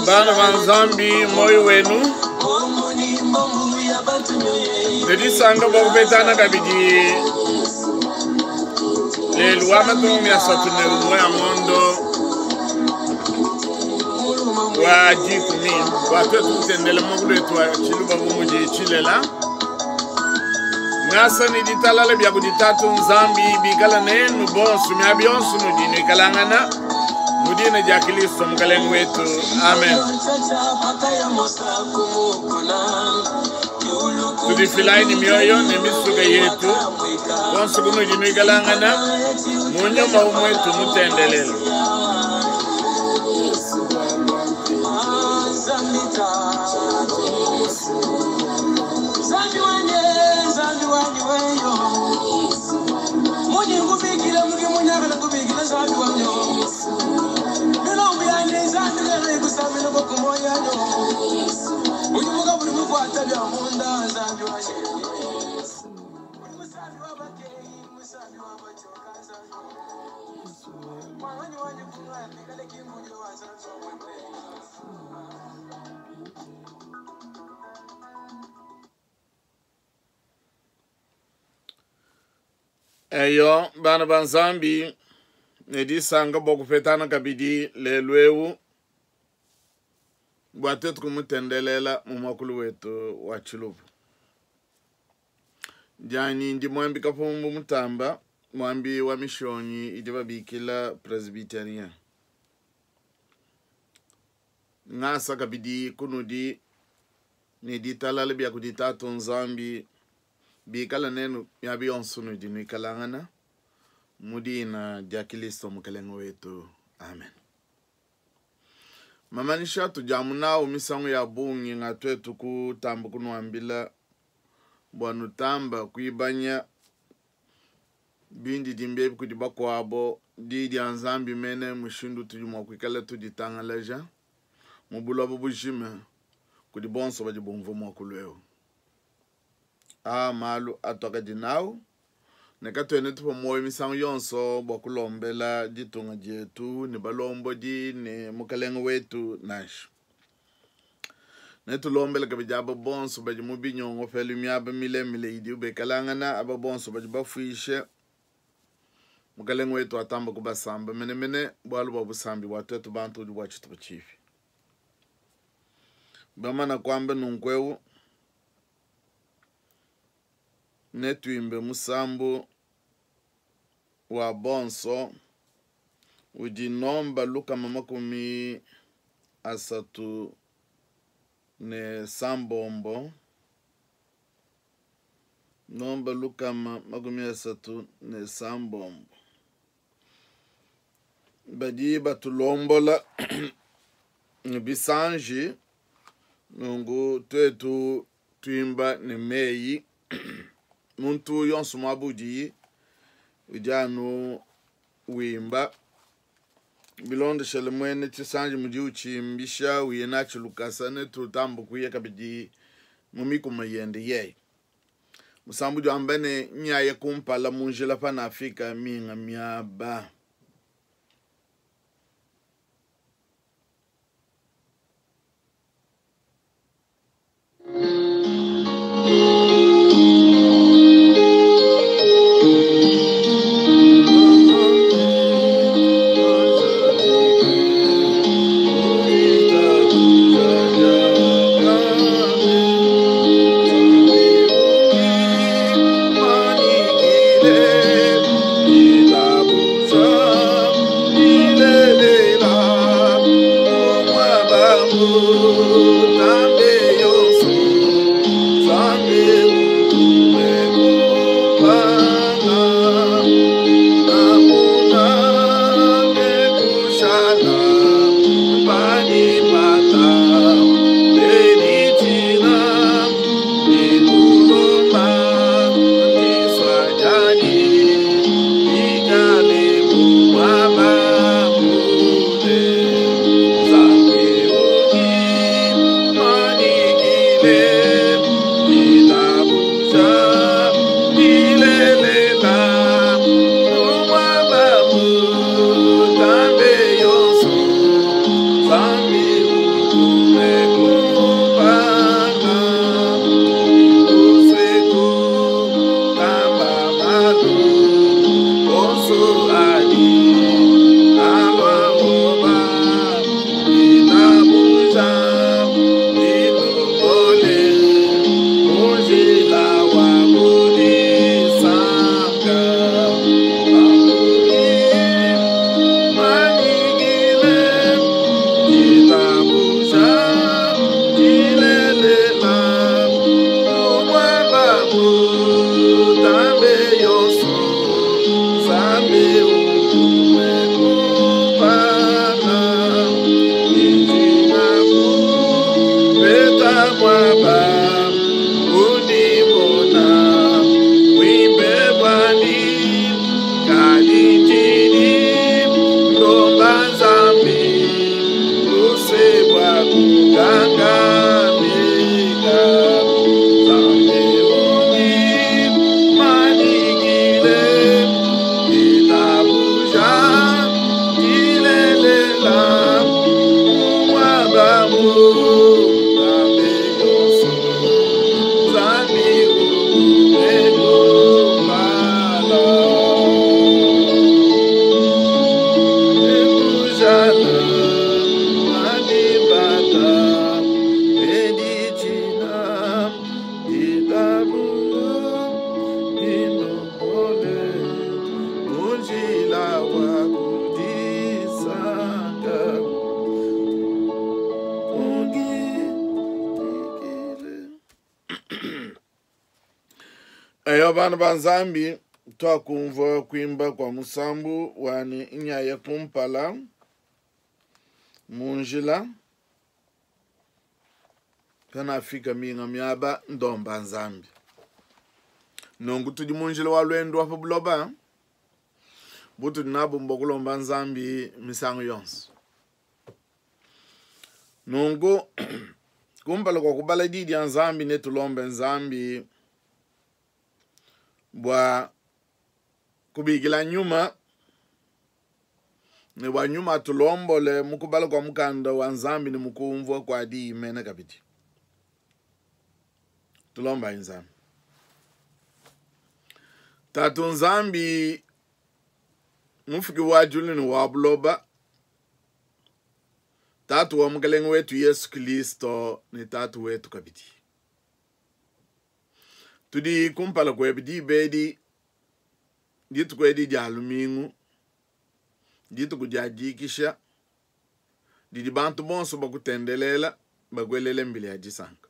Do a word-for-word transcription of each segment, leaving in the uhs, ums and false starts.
Bana ba Nzambi, moyo wenu ne disanka bua kupetana kabidi lelu wa makumi asatu ne umue a ngondo wa dikumi bua tuetu kutendela muakulu wetu wa tshiluba bu mudi tshilela. Ngasa ne ditalala bia kudi Tatu Nzambi bikala nenu bonso miaba yonso nudi nuikalangana mu dina dia Kristo Mukalenge wetu. Amen. Tudifilayi ne mioyo ne misuka yetu bonso kunudi nuikalangana mu nyuma umwe tumutendelele. Eyo bana ba Nzambi ne disanka bua kupetana kabidi lelu eu bua tuetu kumutendelela mu muakulu wetu wa tshiluba. Dianyi ndi mwambi Kapumbu Mutamba, mwambi wa mishonyi idi babikila Presbyterien. Ngasa kabidi kunudi ne ditalala bia kudi Tatu Nzambi bikala nenu miaba yonso nudi nuikalangana mu dina dia Kristo Mukalenge wetu. Amen. Mamanyisha tudiamu nawu misangu ya bungi nga tuetu kutamba kunuambila bua nutamba kuibanya bindi dimbe kudi bakuabo di dia Nzambi mene mushindu tudi mua kuikala tuditangalaja mu buloba bujima kudi bonso badi bumvua muakulu eu. A malu atwakadi nawu ne katuene tupa moyo misangu yonso bua kulombela ditunga dietu ne balombodi ne mukalenge wetu nansha. Ne tulombela kabidi aba bonso badi mu binyongo pelu miaba milemile idi bekalangana, aba bonso badi bafuishe mukalenge wetu atamba kubasamba menemene bualu bua busambi bua tuetu bantu udi bua tshitupa tshipi. Bamana kuamba nunku eu netuimbe musambu wa bonso udi nomba lukama makumi asatu ne sambombo, nomba lukama makumi asatu ne sambombo. Badi batulombola ne bisanji nungu tuetu tuimba ne meyi muntu yonso mwabudi udi anu wimba bilondeshele mwene tshisanji mudi utshimbisha uye natshi lukasa ne tutamba kuye kabidi mu mikuma yende yeye. Musambu udi wamba ne nyaye kumpala mu njila panafika minga miaba. Bye. Eyo bana ba Nzambi, twakumvua kuimba kwa musambu wani nyaya kumpala mu njila kanafika minga miaba ndomba Nzambi. Nunku tudi mu njila wa lwendo wa pa buloba, butudi nabu mbua kulomba Nzambi misangu yonso. Nunku kumpala kwa kubala di dia Nzambi netulombe Nzambi bua kubikila nyuma ne bua nyuma atulombole mu kubala kwa mukanda wa Nzambi ne mu kumvua kwa diyi mene kabidi. Tulomba Nzambi. Tatu Nzambi mufuki wa julu ne wa buloba, Tatu wa Mukelenge wetu Yesu Kristo ne Tatu wetu kabidi. Tudi kumpala kwebe diba edi, dituku edi dia lumingu, dituku dia dikisha, didi bantu bonso bakutendelela, bakuelele mbili ya disanka.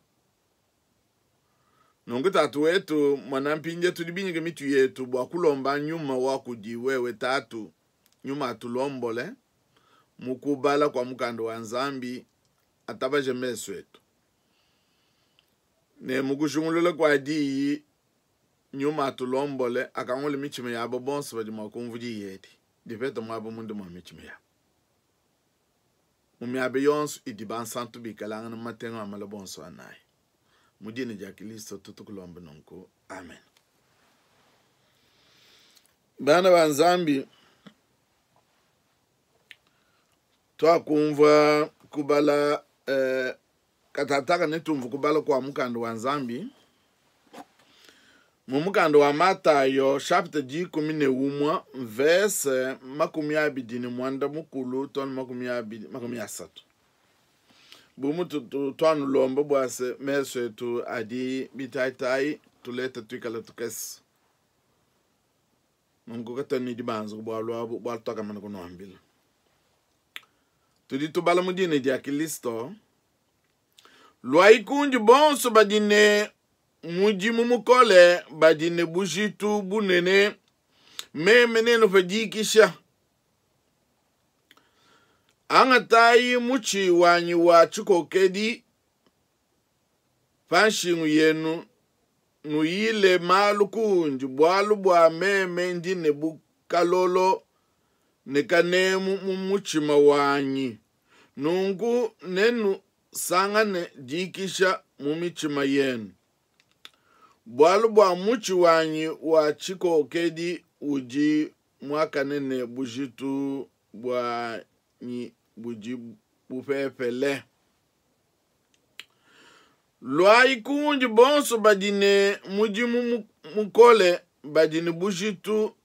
Nunku Tatu wetu, mwana mpinje tudi binyike mitu yetu bua kulomba nyuma wa kudi wewe Tatu, nyuma atulombole mu kubala kwa mukanda wa Nzambi, atabaje mesu etu. Ne mu kujungulula kwa diyi, nyuma atulombole, akangule michima yabo bonso badi mua kumva diyi edi. Dipeta muaba mundu mua michima yabo. Mu miaba yonso idi bansantu bikalangana mu matengo a mala bonso anayi. Mu dina dia Kristo tutukulomba nunku. Amen. Bana ba Nzambi, twakumva kubala, eh, katataka netumva kubala kwa mukanda wa Nzambi. Mu mukanda wa Matayo chapitre dikumi ne umwa verse makumi abidi ne mwanda mukulu tonu makumi abidi makumi asatu. Bu mutu tu-, twanulomba bua se meso etu adi bitaitai tuleta tuikala tukese. Nunku katani dibanza ku bualu abu, bualu tuakamana kunuambila. Tudi tubala mu dina dia Kristo. Lwai kundi bonso badi ne mudimu mukole, badi ne bujitu bunene, meme nenu padikisha. Angatai muchi wanyi wa chikokedi panshingu yenu, nuyile malu kundi, bualu bua meme ndi ne bukalolo ne kanemu mu muchima wanyi. Nunku nenu sangane dikisha mu michima yenu. Bualu bua muchi wanyi wa chikokedi udi mwakane ne bujitu bwanyi budi bupepele. Lwai kundi bonso badi ne mudimu mu-, mukole, badi ne bujitu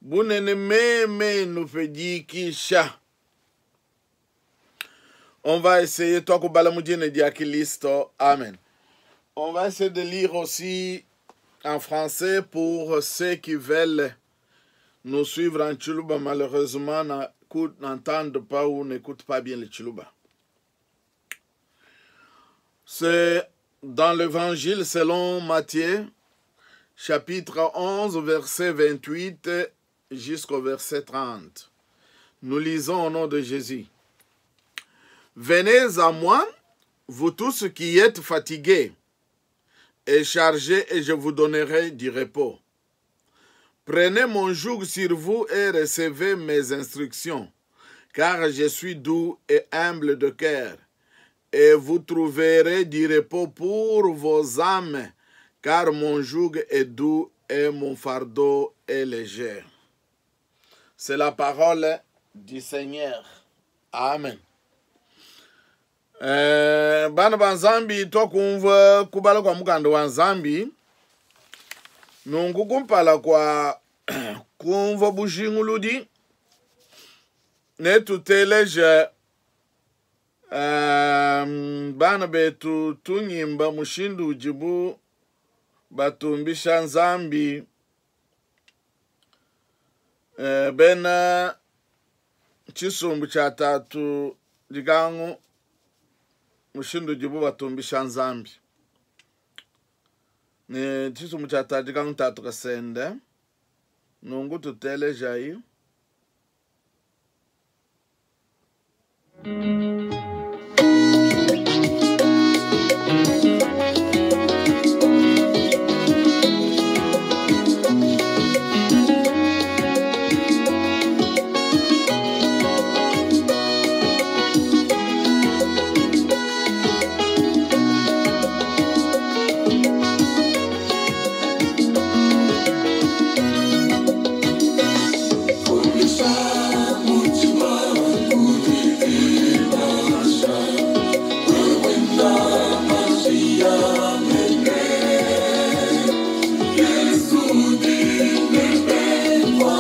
bunene, meme nupedikisha. On va essayer, toi, kubala mu dina dia Kristo. Amen. On va essayer de lire aussi en français pour ceux qui veulent nous suivre en Tshiluba. Malheureusement, n'entendent pas ou n'écoutent pas bien le Tshiluba. C'est dans l'évangile selon Matthieu, chapitre onze, verset vingt-huit jusqu'au verset trente. Nous lisons au nom de Jésus. Venez à moi, vous tous qui êtes fatigués et chargés, et je vous donnerai du repos. Prenez mon joug sur vous et recevez mes instructions, car je suis doux et humble de cœur, et vous trouverez du repos pour vos âmes, car mon joug est doux et mon fardeau est léger. C'est la parole du Seigneur. Amen. Eh, bana ba Nzambi, twakumva kubala kwa mukanda wa Nzambi. Nunku kumpala kwa kumva bujinguludi, netuteleje, eh, bana betu tunyimba mushindu ujibu batumbisha Nzambi, eh, bena chisumbu cha tatu digangu mushindu ujibu batumbisha Nzambi. Ne tshisumbu tshia tadika ntatu kasende nungu tutelejayi.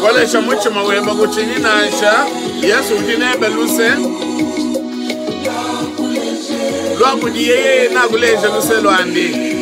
Kolesha muchima weba kuchini nansha Yesu udi nebe luse lwakudi yeye nakuleja luse lwandi.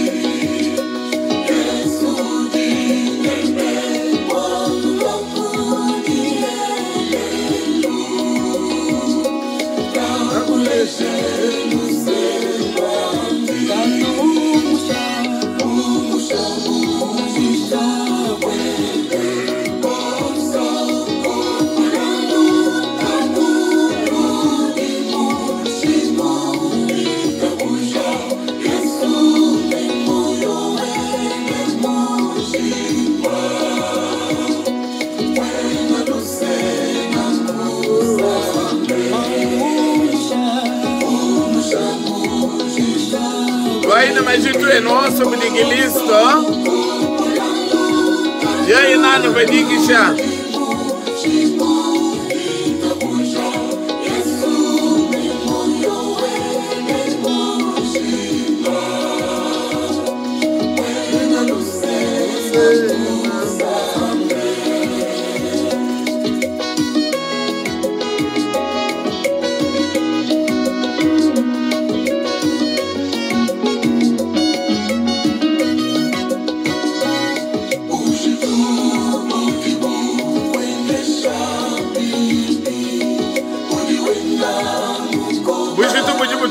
Majitu eno kudigilisto yeye nani badikisha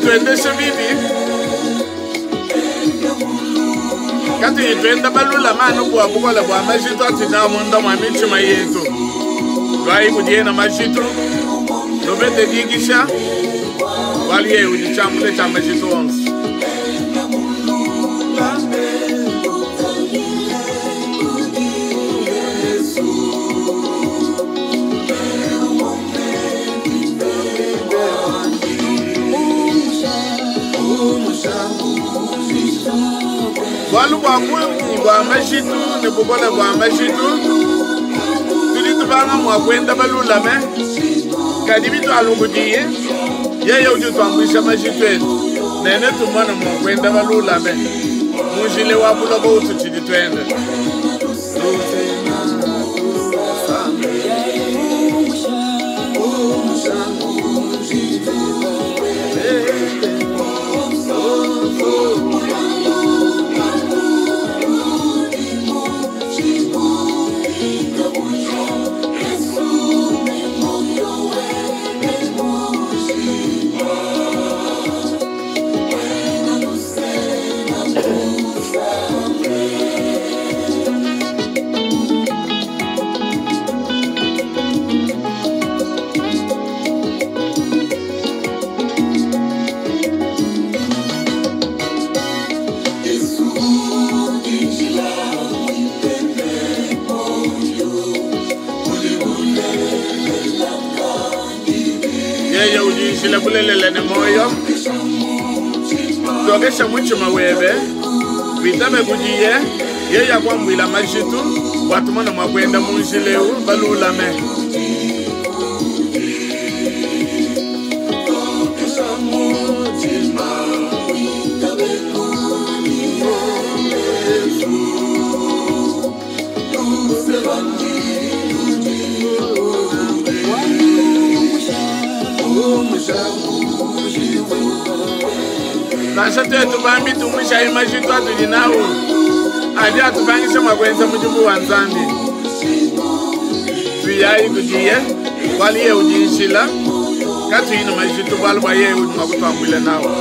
tuendeshe bibi kati twenda balula manu bwa bukola bwa majitu atina munda mwa michima yetu lwai kudiena majitu lobete digisha waliye ujichambule cha majitu onse. Bwalu bwa bungi bwa majitu ne bukola bwa majitu tudi tubanga mwa kwenda balulame kadi bitu alungudiye yeye udi twambwisha majitu etu nene tumona mwa kwenda balulame munjile wa buloba utu tshidi twenda. Yeye ujishile kulelele ne moyo tokesha muchima webe witabe kujiye yeye akwambwila majitu watumona mwakwenda munjileu balulame. Nansha twetu bambi tumusha majitu atuli nawo adi atupangisha mwakwenza mujibu wa Nzambi tuyayi kudiye waliye ujinshila katuyina majitu bwalu bwa yeye udi mwakutwambwila nawo.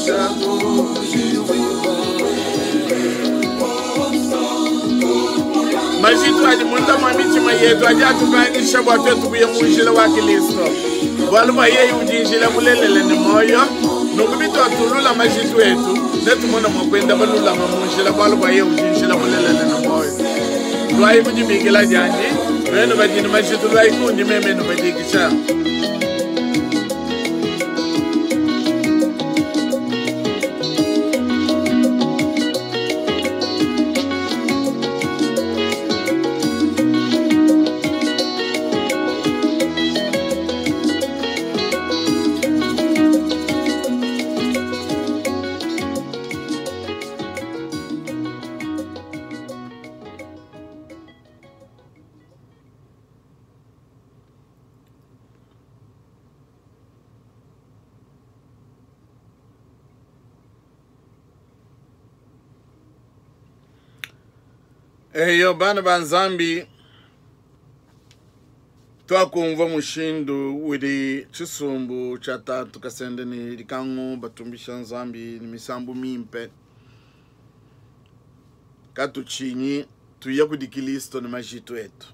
Majitu adi munda mua mitshima yetu adi atupangisha bua tuetu kuya mu njila wa Kilisto, bualu bua yeye udi njila mulelela ne muoyo. Nunku bituatulula majitu etu netumone mua kuenda balulama mu njila, bualu bua yeye udi njila mulelela ne muoyo. Luayi kudibikila diandi nuenu badi ne majitu, luayi kundi meme nubadikisha. Eyo bana ba Nzambi, twakumva mushindu udi tshisumbu tshia tatu kasende ne likango batumbisha Nzambi ne misambu mimpe. Katutshinyi tuya kudi Kilisto ne majitu etu.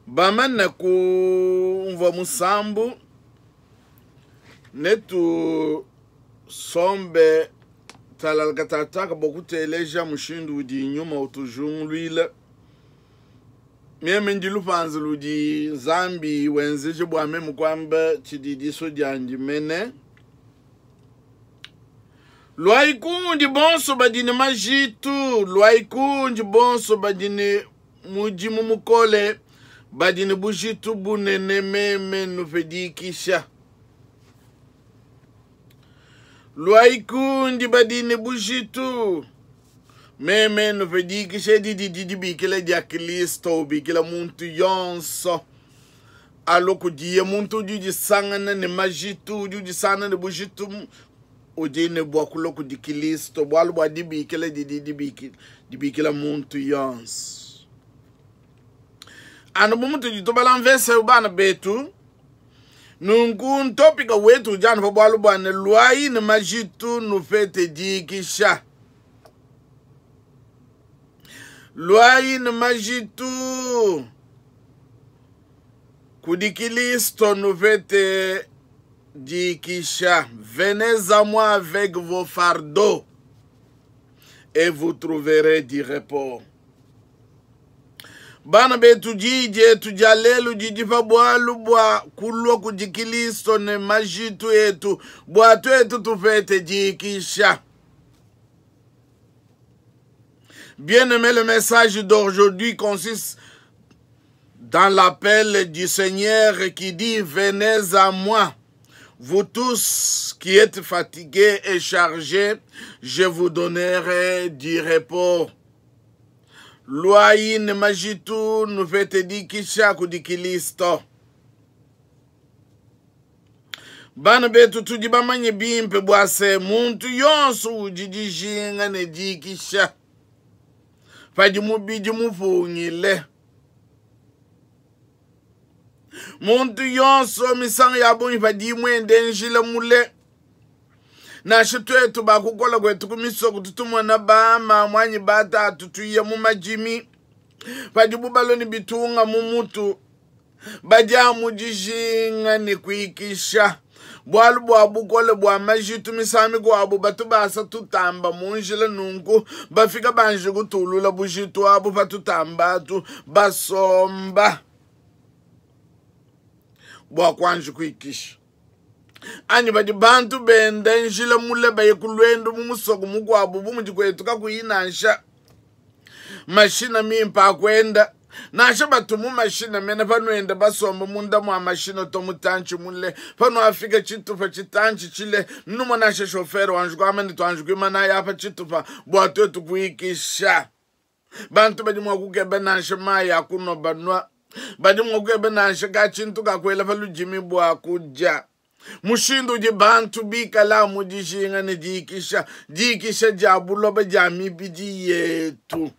Bamane kumvua musambu netu sombe talalakatataka bokuteleja mushindu udi nyuma utujunguluila. Meme ndi lupanza ludi Nzambi wenzeje bua meme kuamba tshidi diso diandi mene. Luayi kundi bonso badi ne majitu, luayi kundi bonso badi ne mudimu mukole, badi ne bujitu bunene, meme nupedikisha. Luayi kundi badi ne bujitu, meme nupedikisha. Didi didibikila dia Kilisto, ubikila muntu yonso alo kudiye. Muntu udi udisangana ne majitu, udi udisangana ne bujitu, udi ne bua kulua kudi Kilisto, bualu bua dibikila didi dibikila, dibikila muntu yonso. Anu bu mutudi tubala mvese bana betu, nunku ntopika wetu udi anu pa bualu bua ne luayi ne majitu nupete dikisha. Luayi ne majitu kudi Kilisto nupete dikisha. Venez à moi avec vos fardeaux et vous trouverez du repos. Bana betu didi dia lelu didi pa bualu bua kulua kudi Kilisto ne majitu etu bua tuetu tupete dikisha. Bien-aimé, le message d'aujourd'hui consiste dans l'appel du Seigneur qui dit: venez à moi, vous tous qui êtes fatigués et chargés, je vous donnerai du repos. Luayi ne majitu nupete dikisha kudi Kilisto. Bana betu tudi bamanye bimpe bua se muntu yonso udi dijinga ne dikisha padi mubidi mupungile. Muntu yonso misangu ya bungi padi mwende njila mule. Nansha tuetu bakukola kwetu ku misoko tutumona bama mwanyi batatu tuya mu majimi padibu baloni bitunga mu mutu badia mu dijinga ne kuikisha. Bualu bua bukole bua majitu misangu mikuabu batu basa tutamba mu njila nunku bafika banji kutulula bujitu abu patutambatu basomba bua kuanji kuikisha. Anyi badi bantu benda njila mule baye kulwendo mu musoko mukuabu bu mudi kwetu kakuyi nansha mashina mimpa akwenda nansha batu mu mashina mene panuenda basomba munda mua mashina to mutanchi mule panu afika chitupa chitanchi chile numa nansha shofero wanji kuamene tuanji kuimana yapa chitupa bua tuetu kuikisha. Bantu badi mua kukeba nansha mayi akunwa banwa badi mua kukeba nansha kachintu kakwela palujimi bua kuja. Mushindu udi bantu bikala mu dijinga ne dikisha, dikisha dia buloba dia mibidi yetu.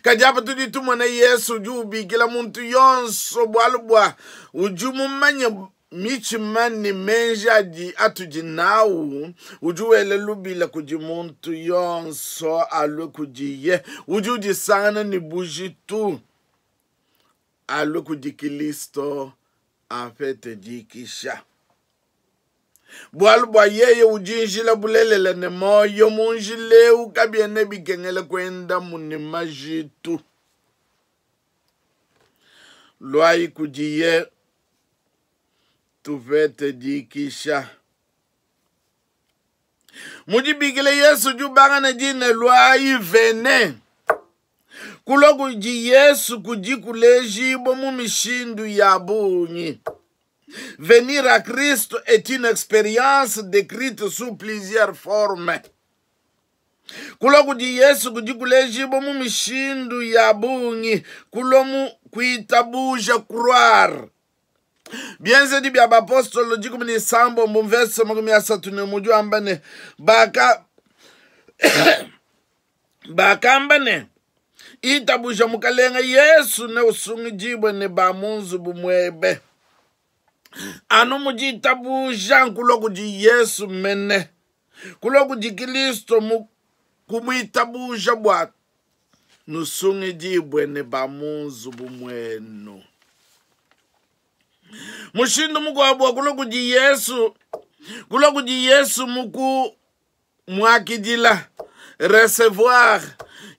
Kadi apa tudi tumona Yesu udi ubikila muntu yonso bualu bua udi mumanye mitshima ne meji adi atudi nawu, udi wela lubila kudi muntu yonso alue kudiye, udi udisangana ne bujitu alue kudi Kilisto apete dikisha. Bualu bua yeye udi njila, bulelela ne muoyo, mu njila eu kabiena bikengela kuendamu ne majitu. Luayi kudiye tupete dikisha. Mu dibikila Yesu udi ubanga ne dina luayi, venez. Kulua kudi Yesu kudi kulejibua mu mishindu ya bungi. Venir à Christ est une expérience décrite sous plusieurs formes. Kulua kudi Yesu kudi kulejibua mu mishindu ya bungi. Kulua mu kuitabuja, croire. Bienzedi bia bapostolo dikumi ne isambombo mvese makumi asatu ne mudi wamba ne baka bakamba ne itabuja mukalenga Yesu ne usungidibwe ne ba mu nzubu muebe. Anu mudi itabuja nkulua kudi Yesu mene, kulua kudi Kristo mu kumuitabuja bua nusungidibwe ne ba mu nzubu muenu. Mushindu mukuabu wa kulua kudi Yesu, kulua kudi Yesu muku muakidila, recevoir.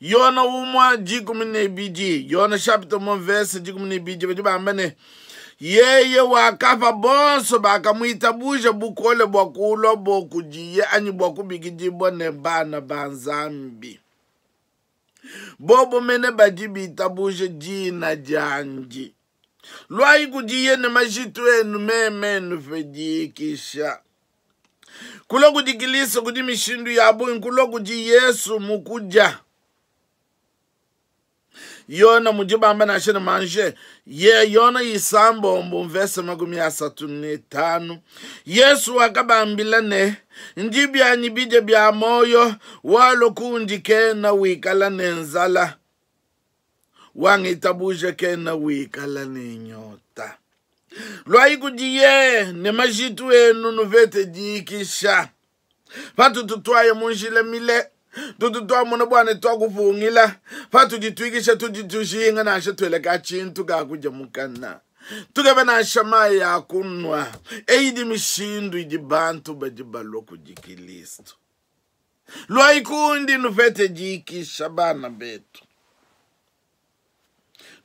Yona umwa dikumi ne ibidi, Yona chapitre umue verse dikumi ne ibidi, badi bamba ne yeye wakapa bonso bakamuitabuja bukole bua kulua bo kudiye anyi bua kubikidibwa ne bana ba Nzambi. Bobo mene badi bitabuja dina diandi. Luayi kudiye ne majitu enu meme nupe dikisha. Kulua kudi Kristo kudi mishindu ya bungi, kulua kudi Yesu mukudia. Yona mudi bamba nansha ne manje ye Yona isambombo mvese makumi asatu ne tanu. Yesu wakabambila ne ndi byanyi bidya bya moyo walo kundi kena wikala ne nzala, wangitabuje kena wikala ne nyota. Lwayi kudiye ne majitu enu nuvete dikisha. Patu tutwaye munjila mile, tutu twamona bwana twakupungila, patu ditwikisha tudi tujinga nansha tweleka tshintu kakuja mukana. Tukebe nansha mayi ya kunwa. Eyi di mishindu idi bantu badi balua kudi Kristo. Lwayi kundi nuvete dikisha bana betu.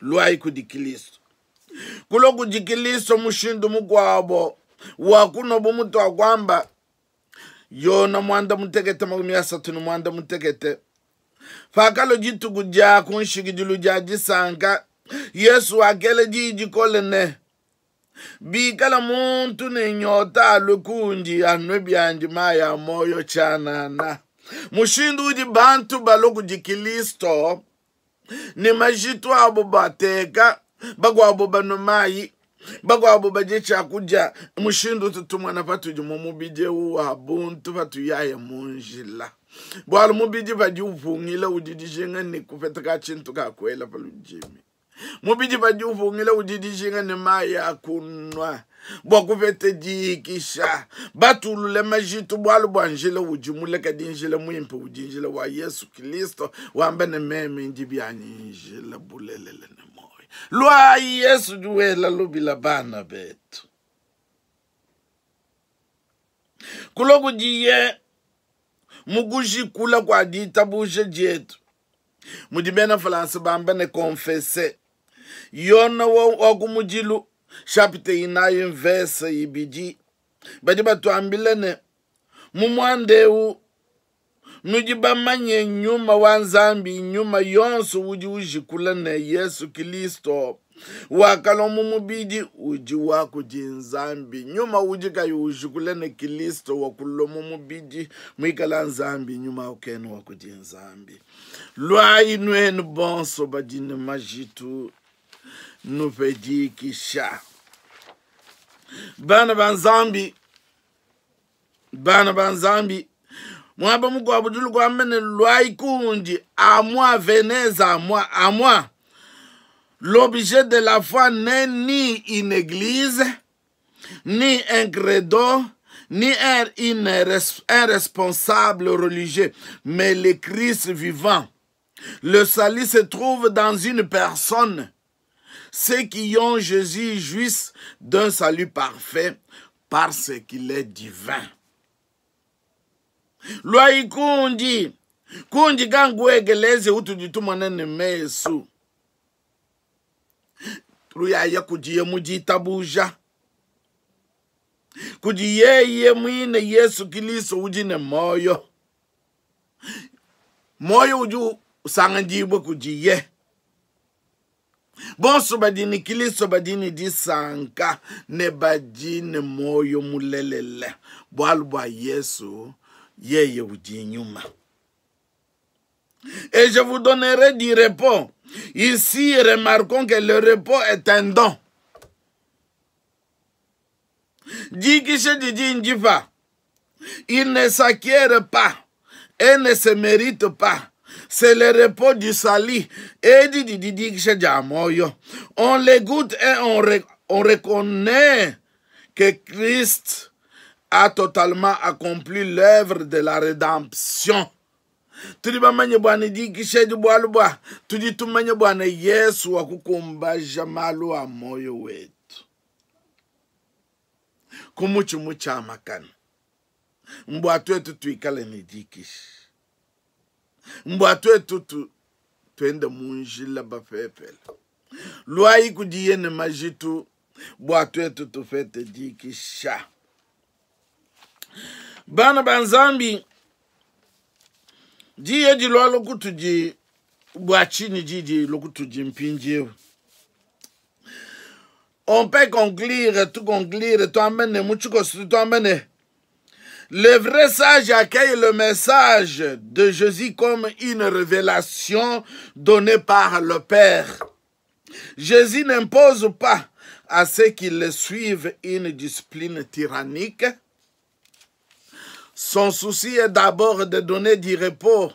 Lwayi kudi Kristo. Kulua kudi Kristo mushindu mukwabo wa kuno bumutu akwamba Yona mwanda mutekete makumi asatu ne mwanda mutekete. Fakalo dituku dia kunshikidilu dia disanka, Yesu wakela diyi dikole ne bikala muntu ne nyota alue kundi anwe biandi mayi a moyo tshianana. Mushindu udi bantu balua kudi Kristo ne majitu abo bateka, bakwabo banwe mayi, bakwabo badye tshiakudia. Mushindu tutumwana patudi mu mubidi eu wa buntu patuyaya mu njila. Bualu mubidi padi upungila udi dijinga ne kupeta ka tshintu ka kuela pa ludimi. Mubidi padi upungila udi dijinga ne mayi a kunwa bua kupeta dikisha. Batulule majitu bualu bua njila udi muleka di njila muimpe udi njila wa Yesu Kristo wamba ne meme ndi byanyi njila bulelela ne moyo. Lwayi Yesu duwela lubila bana betu. Kulua kudiye mukujikula kwa ditabuja dietu. Mudi bena Faransa bamba ne confesse. Yona wa, wa kumudilu chapitre inayi verse ibidi. Badi batuambila ne mu muanda eu nudi bamanye nyuma wa Nzambi, nyuma yonso udi ujikula ne Yesu Kristo wakalua mu mubidi udi wa kudi Nzambi. Nyuma udi kayi ujikula ne Kristo wakulua mu mubidi muikala Nzambi, nyuma ukena wa kudi Nzambi. Lwayi nwenu bonso badi ne majitu nupe dikisha. Bana ba Nzambi, bana ba Nzambi, mwaba mukwabo dulu kwamba ne lwayi kundi à moi, venez à moi, à moi. L'objet de la foi n'est ni une église, Ni un credo, ni un, un responsable religieux, mais le Christ vivant. Le salut se trouve dans une personne. Ceux qui ont Jésus jouissent d'un salut parfait parce qu'il est divin. Luayi kundi kundi gangu egeleze utudi tumona ne mesu luyaya kudiye mu ditabuja kudi yeye mwine Yesu Kilisto udi ne moyo moyo udi usanganyibwe kudiye bonso badi ne Kilisto badi ne disanka ne badi ne moyo mulelele bualu bua Yesu yeye udi nyuma. Et je vous donnerai du repos. Ici, remarquons que le repos est un don. Dikishe didi ndifa. Il ne s'acquiert pas et ne se mérite pas. C'est le repos du salut. Et didi dikishe diamoyo. On le goûte et on, re, on reconnaît que Christ a totalement accompli l'œuvre de la rédemption. Tudi bamanye bwana dikishe di bualu bua tudi tumanye bwana Yesu wakukumbaja malu a moyo wetu kumuchi muchamakana mbwa twetu tuikale ni dikishe mbwa twetu tu twende munjila bapepele lwai kudiye ne majitu bwa twetu tufete dikisha. Bana banzambi diye di lwa lokutuji bwa chini didi lokutuji mpinjiewu. On peut conclure, tout conclure, toi-même, toi-même. Le vrai sage accueille le message de Jésus comme une révélation donnée par le Père. Jésus n'impose pas à ceux qui le suivent une discipline tyrannique. Son souci est d'abord de donner du repos,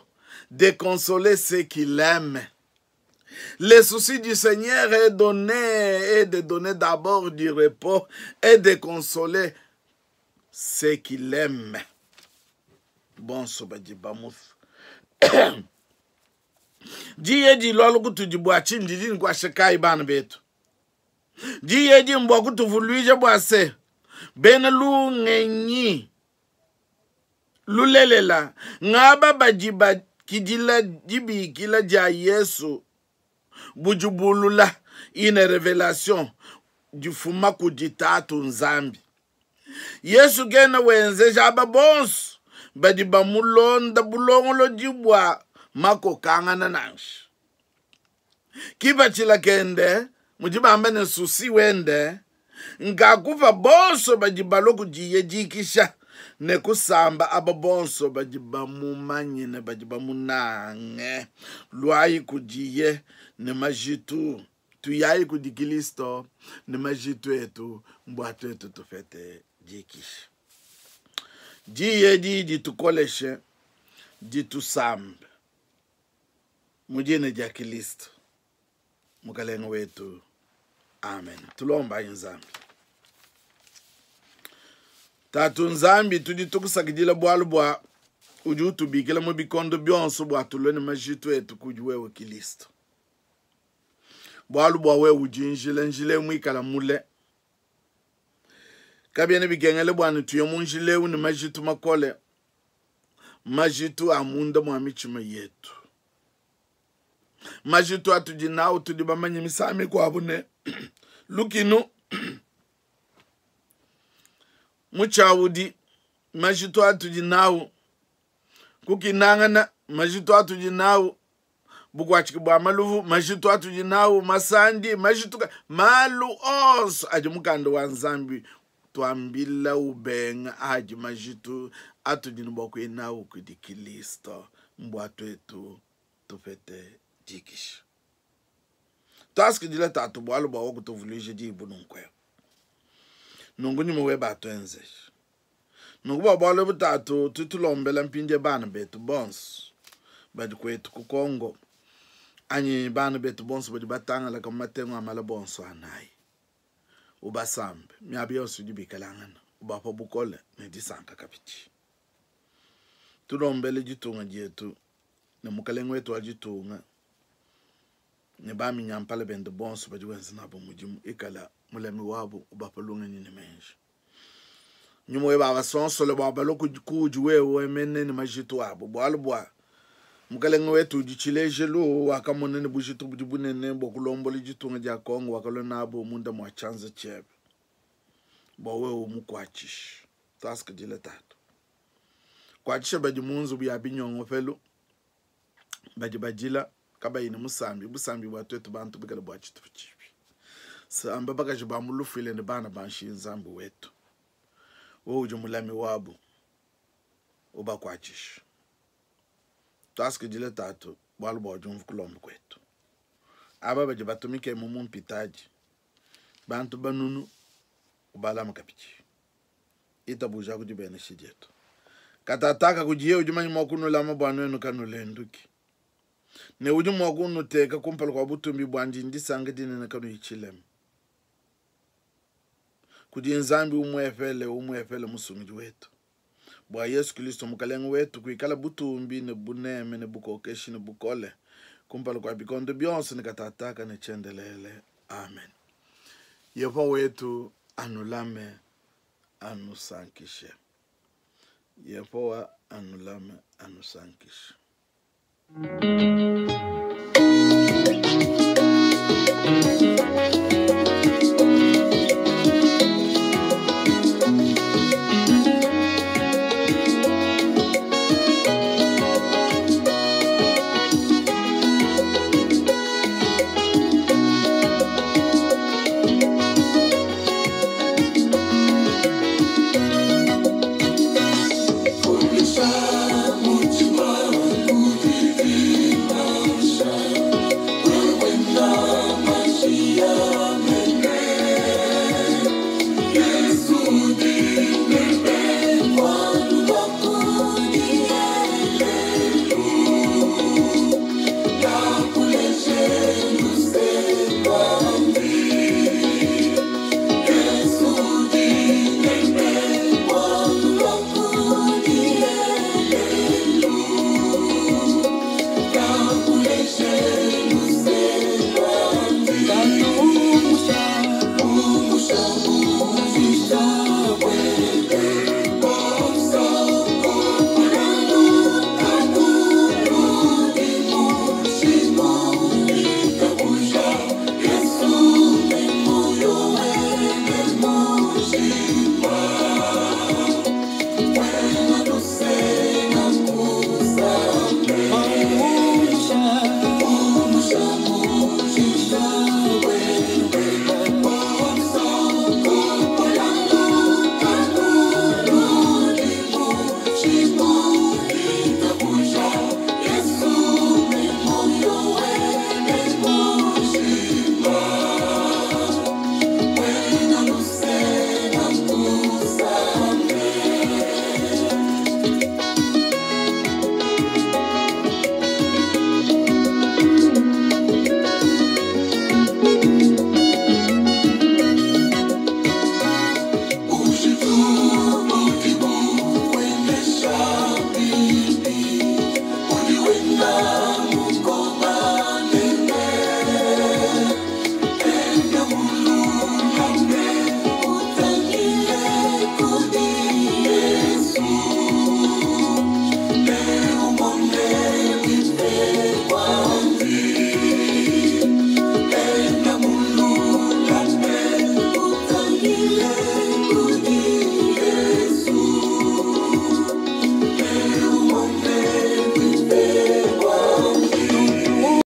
de consoler ceux qui l'aiment. Le souci du Seigneur est, donner, est de donner d'abord du repos et de consoler ceux qui l'aiment. Bon, sobadi bamus. Diye di lolo kutu di bwa chindi di nkwa shekai bana betu. Diye di mbwa kutu vuluije bwa se. Bena lu ngenyi. Lulelela. Ngaba bajiba kidila dibi kila dia Yesu. Bujubulula une révélation du fuma kudita nzambi. Yesu gena wenzeja aba bonso badi bamulonda bulongolo dibwa makokangana nanshi. Kibachila kende mujibamba ne susi wende ngakufa bonso badi baloku diyedikisha ne kusamba aba bonso badi bamumanye ne badi bamunange lwayi kudiye ne majitu tuyayi kudi Kristo ne majitu etu mbwa twetu tufete dikisha. Diye di ditukoleshe ditusambe mujine dia Kristo mukalenga wetu. Amen. Tulomba nzambi. Tatu nzambi tudi tukusakidila bwalu bwa udi utubikila mu bikondo byonso bwa tulone majitu etu kudi wewe Kristo. Bwalu bwa wewe ujinjile njile mwikala mule. Kabiene bikengele bwana tuye munjile uni majitu makole. Majitu amunda mwa michima yetu. Majitu atujinao tudibamanye misami kwa abune. Lukinu muchawudi majitu atujinao kukinangana majitu atujinao bukwachiki bwa maluvu majitu atujinao masandi majitu malu onso aji mukando wa nzambi twambila ubenga aji majitu atujinu bwakwinao kudi Kristo mbwa twetu tufete dikisha. Taskidila tatu bwalu bwa wakutuvulishe jibu nunkwe. Nungu nyuma we batwenze. Nungu bwa bwalu butatu tutulombela mpinje bana betu bonso. Badi kwetu ku Kongo. Anyi bana betu bonso badi batanga la kamatengo amala bonso anai. Ubasambe miaba yonso idi bikalangana, ubapa bukole ne disanka kabidi. Tulombele ditunga dietu ne mukalenge wetu wa ditunga ne baminyampala bende bonso badi wenza nabo mudimu, ikala mulami wabu, ubapa lungenyi ne meji. Nyuma webe abasonsole bua balue kuudi wewe mene ne majitu abo, bualu bua mukalenge wetu udi tshilejelu, wakamona ne bujitu budi bunene bua kulombola ditunga dia Kongo, wakalua nabo munda mua tshianza tshiebe bua wewe umukuatshishe. Tuasakidila Tatu. Kuatshisha badi mu nzubu ya binyongopelu, badi badila kabayi ne musambi, busambi bua tuetu bantu bikale bua tshitupa tshipi. Samba bakaji ba mu lufuile ne bana ba nshiye Nzambi wetu, wewe udi mulami wabu, ubakuatshishe. Tuasakidila Tatu bualu bua udi umvua kulomba kuetu. Aba badi batumike mu mpitadi, bantu banunu, ubalama kabidi. Itabuja ku dibenesha dietu. Katataka kudiye udi manya mua kunulama bua nuenu kanulenduki, ne udi mua kunuteka kumpala kua butumbi buandi ndisanka dinene kanuyi tshilema. Kudi Nzambi umuepele umuepele musungidi wetu, bua Yesu Kristo Mukalenge wetu, kuikala butumbi ne buneme ne bukokeshi ne bukole kumpala kua bikondo bionso ne katataka ne tshiendelele. Amen. Yehowa wetu anulame, anusankishe. Yehowa anulame, anusankishe.